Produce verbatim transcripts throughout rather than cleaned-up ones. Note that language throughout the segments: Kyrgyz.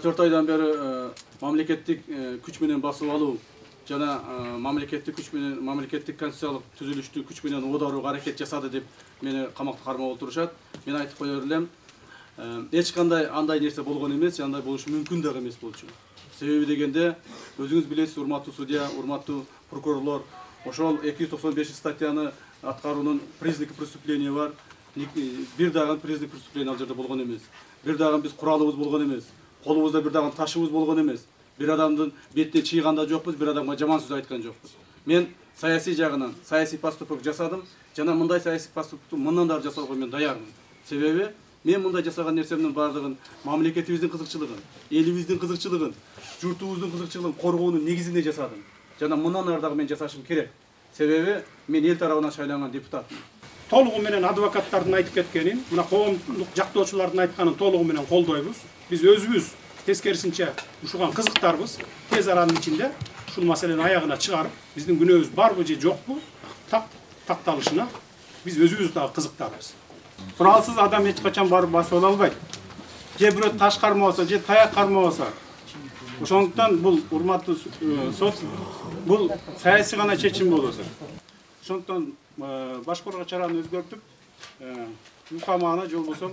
төрт айдан бeri мамлекеттик күч менен басып алуу жана мамлекеттик күч менен мамлекеттик конституциялык түзүлүштү күч менен оодарууга аракет жасады деп мени камакта кармап отурушат. Мен айтып кое берем, эч кандай андай нерсе болгон эмес, андай болушу мүмкүн дагы эмес болчу. Себеби дегенде өзүңүз билесиз, урматтуу судья, урматтуу прокурорлор, ошол эки жүз токсон беш статьяны аткаруунун признаки преступления бар. Бир дагы признак преступления ал жерде болгон эмес. Бир дагы биз куралыбыз болгон эмес. Колубузда бир дагы ташыбыз болгон эмес. Бир адамдын бетине чыйган да жокпуз, бир адамга жаман сөз айткан жокпуз. Мен саясий жагынан саясий поступок жасадым, жана мындай саясий поступокту мындан да жасоого мен даярмын. Себеби мен мындай жасаган нерсемдин бардыгын мамлекетибиздин кызыкчылыгын, элибиздин кызыкчылыгын, журтубуздун кызыкчылыгын коргоонун негизинде жасадым. Жана мындан ары дагы мен жасашым керек. Себеби мен эл тарабынан шайланган депутатмын. Толугу менен адвокаттардын айтып кеткенин, мына коомдук жактоочулардын айтканын толугу менен колдойбуз. Биз өзүбүз тескерисинче ушуган кызыктарбыз. Тез аранын ичинде ушул маселени аягына чыгарып, биздин күнөөбүз барбы же жокпу так такталышына биз өзүбүз дагы кызыктарбыз. Куралсыз адам эч качан барып басып албайт. Же бирөө таш кармабаса, же таяк кармабаса. Ошондуктан бул урматтуу сот, бул саясий гана чечим болот. Ошондуктан башкарууга чараны өзгөртүп, үй камагына же болбосо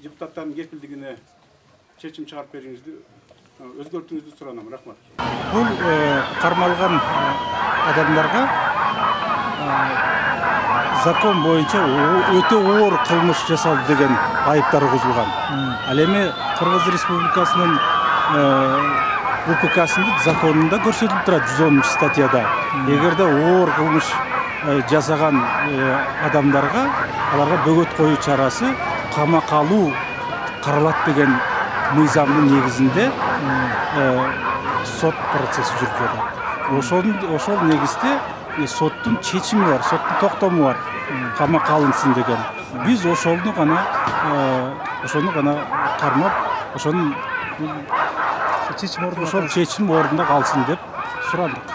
депутаттардын кепилдигине чечим чыгарып бериңизди, өзгөртүүңүздү суранам. Рахмат. Бул кармалган адамдарга закон боюнча өтө оор кылмыш жасалды деген айыптар козулган. Ал эми Кыргыз Республикасынын УККсынын законунда көрсөтүлүп турат жүз онунчу статьяда. Эгерде оор кылмыш жасаган адамдарга аларга бөгөт коюу чарасы камак алуу каралат деген мыйзамдын негизинде сот процесси жүрүп жатат. Ошол ошол негизде соттун чечими бар, соттун токтому бар, камакка алынсын деген. Биз ошону гана ошону гана кармап, ошонун чечим ордунда калсын деп сурадык.